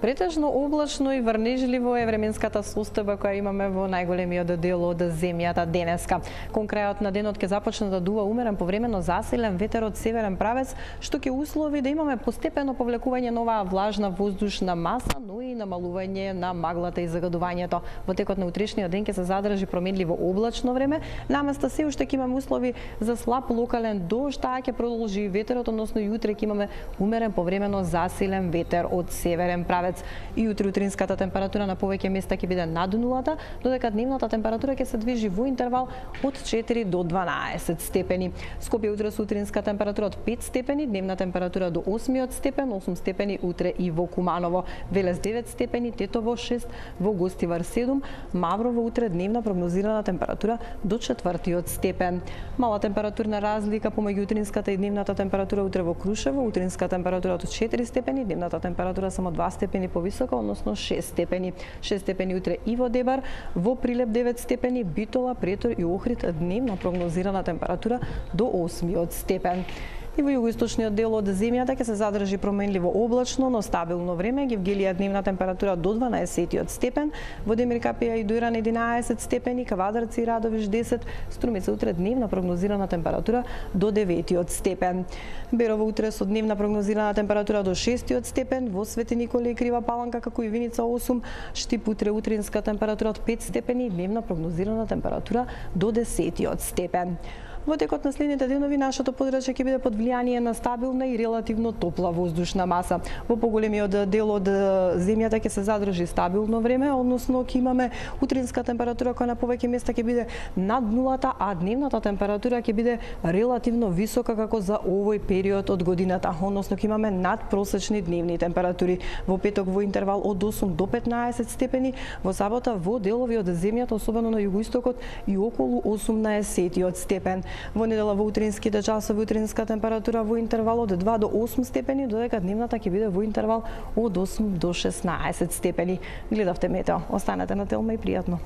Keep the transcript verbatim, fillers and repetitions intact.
Претежно облачно и врнежливо е временската состојба која имаме во најголемиот дел од земјата денеска. Кон крајот на денот ќе започне да дува умерен повремено засилен ветер од северен правец, што ќе услови да имаме постепено повлекување на оваа влажна воздушна маса, но и намалување на маглата и загадувањето. Во текот на утрешниот ден ќе се задржи променливо облачно време, наместа се уште ќе имаме услови за слаб локален дожд, таа ќе продолжи и ветерот, односно и утре ќе имаме умерен повремено засилен ветер од северен правец. И утре утринската температура на повеќе места ќе биде над нулата, додека дневната температура ќе се движи во интервал од четири до дванаесет степени. Скопје утре со утринска температура од пет степени, дневна температура до осмиот степен, осум степени утре и во Куманово, Велес девет степени, Тетово шест, во Гостивар седум, Маврово утре дневна прогнозирана температура до четвртиот степен. Мала температурна разлика помеѓу утринската и дневната температура утре во Крушево, утринска температура од четири степени, дневната температура само два степени повисока, односно шест степени. шест степени утре и во Дебар, во Прилеп девет степени, Битола, Претор и Охрид дневна прогнозирана температура до осмиот степен. И во југоисточниот дел од земјата ќе се задржи променливо облачно, но стабилно време. Гевгелија дневна температура до дванаесетиот степен, во Демир Капија и Дујран единаесет степени, Кавадарци и Радовиш десет, Струмица утре дневна прогнозирана температура до деветиот степен. Берово утре со дневна прогнозирана температура до шестиот степен, во Свети Николе и Крива Паланка како и Виница осум, Штип утре утринска температура од пет степени, дневна прогнозирана температура до десетиот степен. Во текот на следните денови нашето подрачје ќе биде под влијание на стабилна и релативно топла воздушна маса. Во поголемиот дел од земјата ќе се задржи стабилно време, односно ќе имаме утринска температура која на повеќе места ќе биде над нулата, а дневната температура ќе биде релативно висока како за овој период од годината, односно ќе имаме надпросечни дневни температури. Во петок во интервал од осум до петнаесет степени, во сабота во делови од земјата, особено на југоистокот и околу осумнаесетиот степен. Во недела во утринските часови утринска температура во интервал од два до осум степени, додека дневната ќе биде во интервал од осум до шеснаесет степени. Гледавте Метео. Останете на Телма и пријатно.